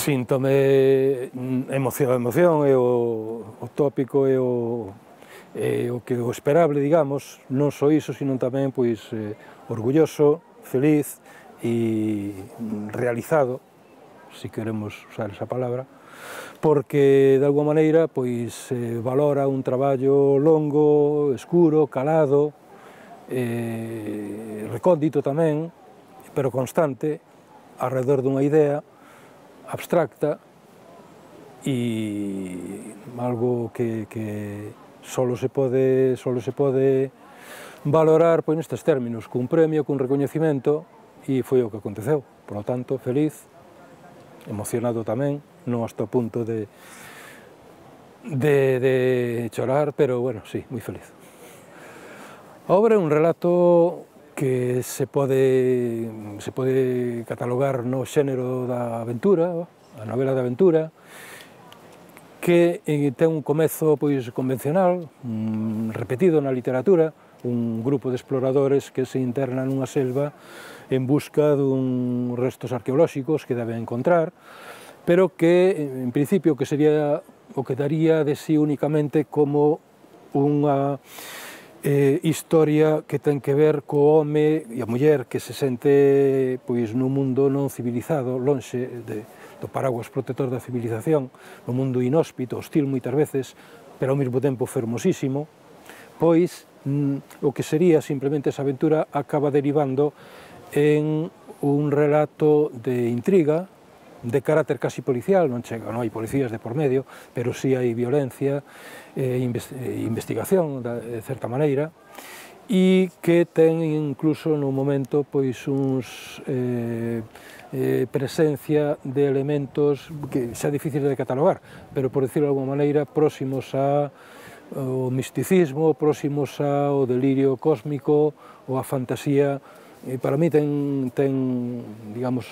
Síntome emoción é o tópico e o que o esperable, digamos, non só iso, sino tamén pois orgulloso, feliz e realizado, se queremos usar esa palabra, porque de alguma maneira pois valora un traballo longo, escuro, calado, recóndito tamén, pero constante, alrededor dunha idea abstracta e algo que só se pode valorar pois nestes términos, cun premio, cun recoñecemento, e foi o que aconteceu. Por lo tanto, feliz, emocionado tamén, non hasta o punto de chorar, pero, bueno, sí, moi feliz. A obra é un relato que se pode catalogar no xénero da aventura, a novela de aventura, que ten un comezo pois convencional, repetido na literatura, un grupo de exploradores que se internan nunha selva en busca dun restos arqueolóxicos que deben encontrar, pero que, en principio, que sería o que daría de sí únicamente como unha historia que ten que ver co home e a muller que se sente pois nun mundo non civilizado, lonxe do paraguas protector da civilización, no mundo inhóspito, hostil moitas veces, pero ao mesmo tempo fermosísimo, pois o que sería simplemente esa aventura acaba derivando en un relato de intriga, de carácter casi policial, non hai policías de por medio, pero sí hai violencia e investigación, de certa maneira, e que ten incluso no momento pois uns presencia de elementos que xa difíciles de catalogar, pero por decirlo de alguma maneira próximos ao misticismo, próximos ao delirio cósmico ou a fantasía. Para mí ten digamos,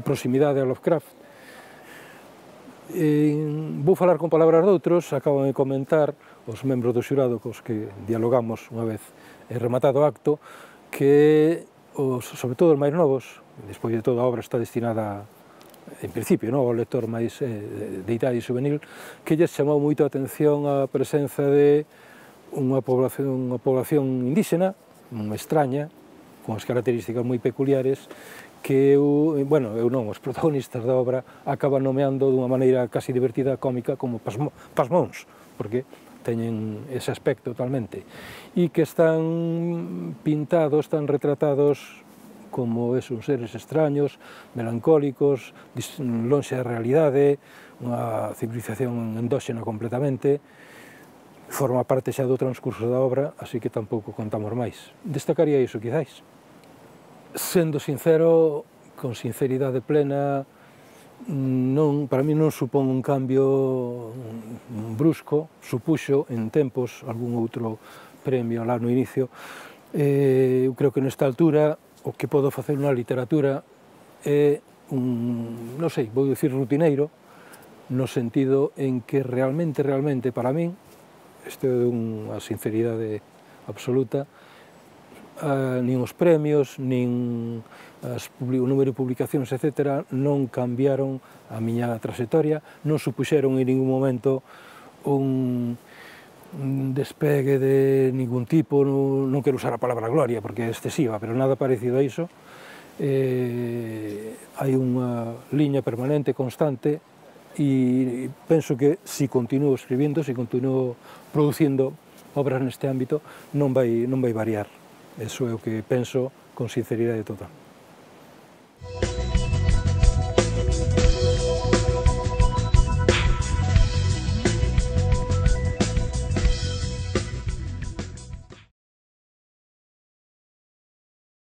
proximidade a Lovecraft. Vou falar con palabras doutros, acaban de comentar os membros do xurado cos que dialogamos unha vez rematado o acto, que, sobre todo os máis novos, despois de toda a obra está destinada, en principio, ao lector máis de idade juvenil, que lles chamou moito a atención a presenza de unha población indígena, extraña, con as características moi peculiares, que eu non, os protagonistas da obra acaban nomeando dunha maneira casi divertida, cómica, como pasmóns, porque teñen ese aspecto totalmente, e que están pintados, están retratados como esos seres extraños, melancólicos, lonxe da realidade, unha civilización endóxena completamente. Forma parte xa do transcurso da obra, así que tampouco contamos máis. Destacaría iso, quizáis. Sendo sincero, con sinceridade plena, para mí non supón un cambio brusco, supuxo en tempos algún outro premio lá no inicio. Eu creo que nesta altura o que podo facer na literatura é non sei, vou dicir rutineiro, no sentido en que realmente para min, isto é unha sinceridade absoluta, nin os premios, nin o número de publicacións, etc., non cambiaron a miña trayectoria, non supuxeron en ningún momento un despegue de ningún tipo, non quero usar a palabra gloria porque é excesiva, pero nada parecido a iso. Hai unha liña permanente, constante, e penso que se continuo escribindo, se continuo producindo obras neste ámbito, non vai variar. Eso é o que penso con sinceridade total.